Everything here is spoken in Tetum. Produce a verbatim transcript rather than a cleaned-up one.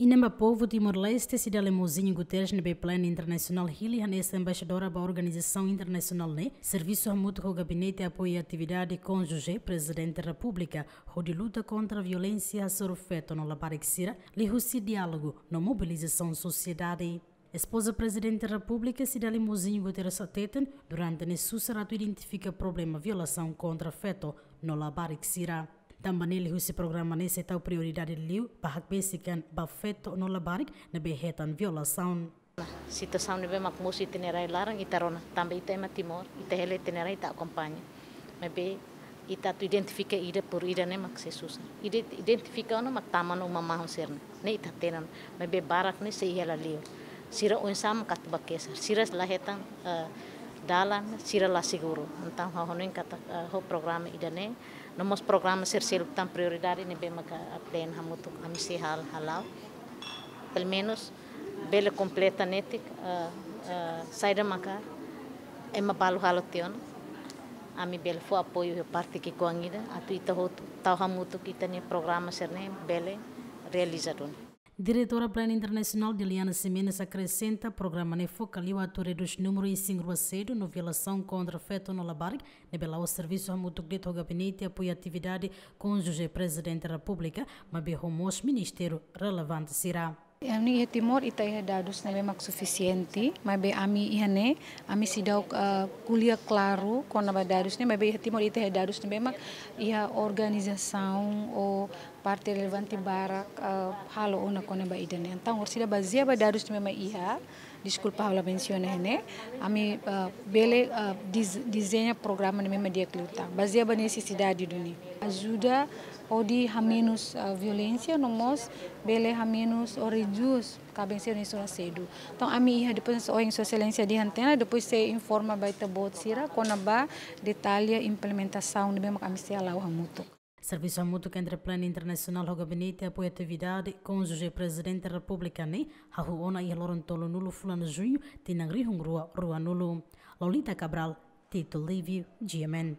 Inan ba povu Timor-Leste, Cidália Mozinho Guterres, ne'ebé Plan Internasionál hili hanesan embaixadora ba organizasaun internasionál ne'e, servisu hamutuk ho Gabinete Apoiu Atividade Kónjuje Prezidente Repúblika, hodi luta kontra violénsia hasoru feto no labarik sira, liuhusi diálogu no mobilizasaun sosiedade. Espoza Prezidente Repúblika, Cidália Mozinho Guterres hateten, durante ne'e susar atu identifika problema violasaun kontra feto no labarik sira. Tanba ne'e liuhusi programa ne'e sei tau prioridade liu ba hakbesik an ba feto no labarik ne'ebé hetan violasaun. Situasaun ne'ebé mak mosu iha ita-nia rai-laran ita rona, tanba ita ema Timor, ita hela ita-nia rai ita akompaña. Maibé ita atu identifika ida por ida ne'e mak sei susar. Ide-, identifika ona mak tama ona uma mahon sira-ne'e. Ne'e ita hatene ona, maibé barak ne'e sei hela liu. Sira oinsá mak atu bá kesar, sira la hetan, eh, dalan, sira la seguru. Entaun ha'u hanoin katak, eh, ho programa ida-ne'e, no mós programa sira seluk tan prioridade ne'ebé maka Plan hamutuk ami sei hal-, hala'o. Pelumenus bele kompleta netik, eh, eh, saida maka ema balu halo tiha ona. Ami bele fó apoiu iha parte ki'ikoan ida, atu ita hotu tau hamutuk ita-nia programa sira-ne'e bele realiza duni. Diretora Plan Internasionál Diliana Ximenes akresenta, programa ne'e foka liu atu redús númeru isin-rua sedu no violasaun kontra feto no labarik, ne'ebé la'ós servisu hamutuk de'it ho Gabinete Apoiu Atividade Kónjuje Prezidente Repúblika, maibé ho mós ministériu relevante sira. Ami iha Timor ita iha dadus ne'ebé mak sufisiente, maibé ami iha ne'e, ami seidauk, eh, ko'alia klaru kona-ba dadus ne'e, maibé iha Timor ita iha dadus ne'ebé mak iha organizasaun ou parte relevante barak, eh, halo ona kona-ba ida-ne'e. Entaun, orsida bazeia ba dadus ne'ebé mak iha, deskulpa ha'u la mensiona iha ne'e, ami, eh, bele, eh, diz-, dezeña programa ne'ebé mak di'ak liután. Bazeia ba nesesidade duni. Ajuda hodi hamenus, eh, violénsia, no mós bele hamenus ou redús kaben sira isin-rua sedu. Entaun, ami iha depois ohin Sua Exelénsia dehan tiha ona, depois sei informa ba ita-boot sira kona-ba detalle implementasaun ne'ebé mak ami sei hala'o hamutuk. Servisu hamutuk entre Plan Internasionál ho Gabinete Apoiu Atividade Kónjuje Prezidente Repúblika ne'e hahú ona iha loron tolunulu fulan Juñu, tinan rihun rua ruanulu. Lolita Cabral, Tito Livio, G M N.